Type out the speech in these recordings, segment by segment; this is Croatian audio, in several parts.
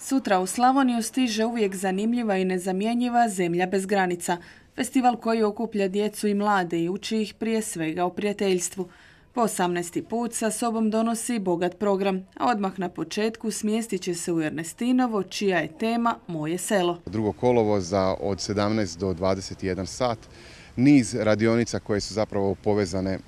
Sutra u Slavoniju stiže uvijek zanimljiva i nezamjenjiva Zemlja bez granica. Festival koji okuplja djecu i mlade i uči ih prije svega o prijateljstvu. Po 18. put sa sobom donosi bogat program, a odmah na početku smjestit će se u Ernestinovo, čija je tema Moje selo. 2. kolovoza od 17 do 21 sat, niz radionica koje su zapravo povezane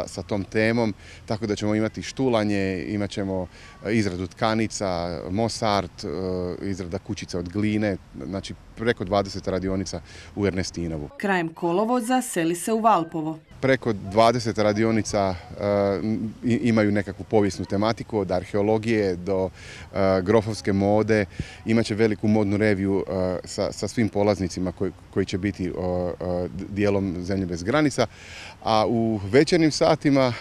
sa tom temom, tako da ćemo imati štulanje, imat ćemo izradu tkanica, mosart, izrada kućica od gline, znači preko 20 radionica u Ernestinovu. Krajem kolovoza seli se u Valpovo. Preko 20 radionica imaju nekakvu povijesnu tematiku, od arheologije do grofovske mode. Imaće veliku modnu reviju sa svim polaznicima koji će biti dijelom Zemlje bez granica. A u večernjim satima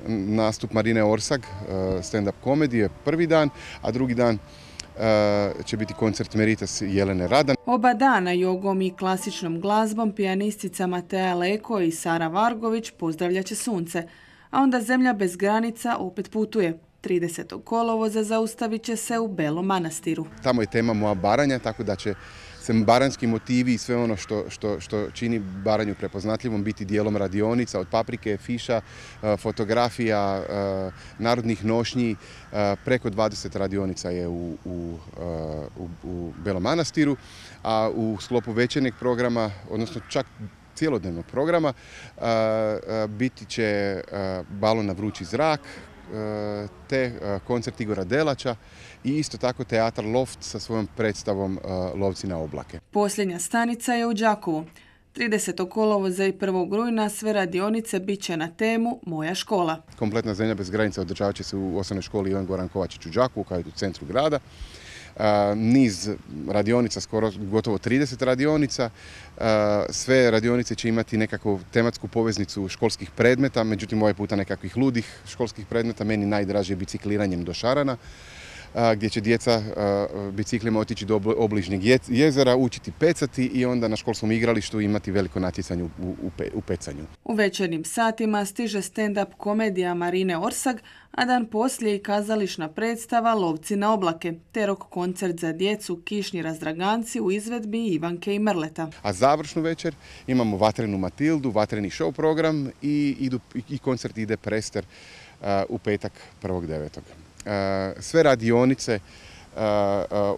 nastup Marine Orsag, stand-up komedije, prvi dan, a drugi dan će biti koncert Meritas Jelene Radan. Oba dana jogom i klasičnom glazbom pijanistica Matea Leko i Sara Vargović pozdravljat će sunce, a onda Zemlja bez granica opet putuje. 30. kolovoza zaustavit će se u Belom Manastiru. Tamo je tema Moja Baranja, tako da će se baranjski motivi i sve ono što čini Baranju prepoznatljivom biti dijelom radionica, od paprike, fiša, fotografija, narodnih nošnji. Preko 20 radionica je u Belom Manastiru, a u sklopu večernjeg programa, odnosno čak cijelodnevnog programa, biti će balon na vrući zrak, te koncert Igora Delača i isto tako teatar Loft sa svojom predstavom Lovci na oblake. Posljednja stanica je u Đakovu. 30. kolovoza i 1. rujna sve radionice bit će na temu Moja škola. Kompletna Zemlja bez granica održavat će se u osnovnoj školi Ivan Goran Kovačić u Đakovu, kao i u centru grada. Niz radionica, gotovo 30 radionica. Sve radionice će imati nekakvu tematsku poveznicu školskih predmeta, međutim ovaj puta nekakvih ludih školskih predmeta. Meni najdraže bicikliranjem do Šarana, gdje će djeca biciklima otići do obližnjeg jezera, učiti pecati i onda na školskom igralištu imati veliko natjecanje u pecanju. U večernjim satima stiže stand-up komedija Marine Orsag, a dan poslije i kazališna predstava Lovci na oblake, te rock koncert za djecu Kišni razdraganci u izvedbi Ivanke i Mrleta. A završnu večer imamo Vatrenu Matildu, vatreni show program i koncert ide Prester u petak 1.9. Sve radionice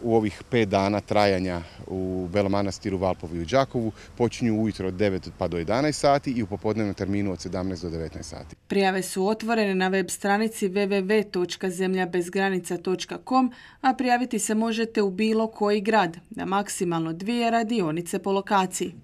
u ovih 5 dana trajanja u Belom Manastiru, Valpovu i u Đakovu počinju ujutro od 9 pa do 11 sati i u popodnevnom terminu od 17 do 19 sati. Prijave su otvorene na web stranici www.zemljabezgranica.com, a prijaviti se možete u bilo koji grad, na maksimalno 2 radionice po lokaciji.